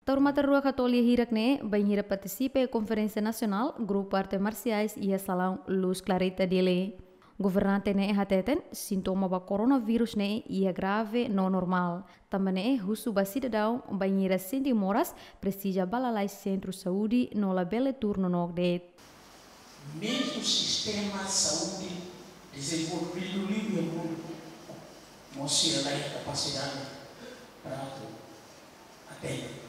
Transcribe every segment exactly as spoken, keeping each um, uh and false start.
Taur matan rua katolia hirak ne'e, bainhira partisipa iha konferénsia nasionál grupu arte marsiais iha salaun Luz Clarita Dili. Governante ne'e hateten, sintoma ba koronavírus ne'e iha grave no normál. Tanba ne'e husu ba sidadaun bainhira sente moras, presiza bá lalais sentru saúde no labele tuur nonook de'it. Mezmu sistema saúde dezenvolvidu liu iha mundu, mós sira laiha kapasidade para atu atende.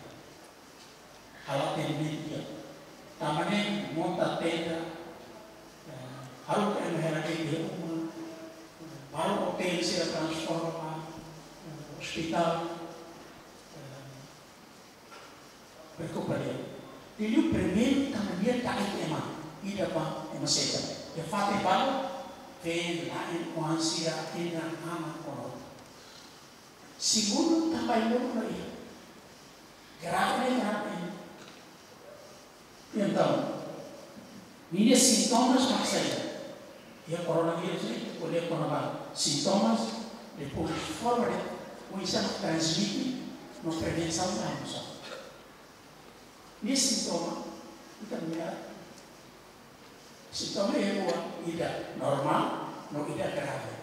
Halo atendimentu di'ak. Tanba ne'e monta tenda, eh, halo ke ema hela ke dia uma, halo hotel sira transforma, eh, ospitál, eh, preokupa di'ak. Liuliu primeiru tanba di'ak ita ema, ida ba ema seda. Iha fatin balu, feen, la'en, oan sira, ida, ama, konota. Segundu, tanba ema laiha. Grave, grave. Entaun, ninia sintomas mak saida? Iha koronavírus ne'e, ita ko'alia kona-ba sintomas, depois forma de, oinsá transmite, no prevensaun da emosaun. Nia sintoma, ita mira, sintoma iha rua, ida normál, no ida grave.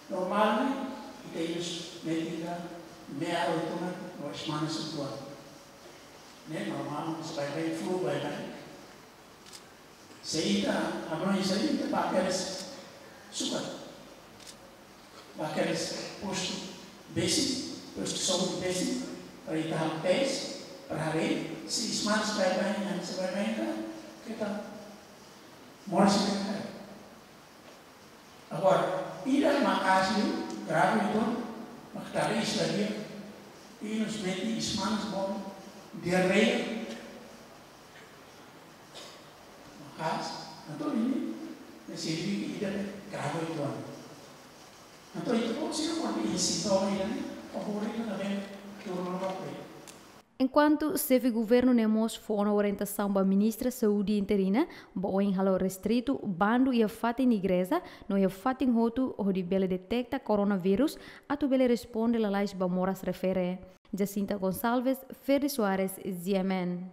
Normál ne'e, ita inus metin ka, me'ar oituan, no ismanas oituan. Ne'e normál, se baibain, flu baibain. Se ita, abang, se ita ba kedas sukat. Ba kedas postu besik, postu saúde besik, para ita halo tes, para haree, se ismanas baibain, se baibain ka, keta moras ka. Agora, ida maka'as liu, grave uitoan, mak tara isla dia, inus metin ismanas boot, diarreia, maka'as, entaun ida-ne'e, ne'e signifika ida ne'e grave uitoan. Entaun, ita-boot sira kuandu iha sintoma ida-ne'e, favór ita labele tuur nonook de'it. Enkuantu xefe governu ne'e mós fó ona orientasaun ba ministra saúde interina, ba oin halo restritu bandu iha fatin igreja, no iha fatin hotu hodi bele deteta koronavírus, atu bele responde lalais ba moras refere. Jacinta Gonçalves, Ferdi Soares, G M N.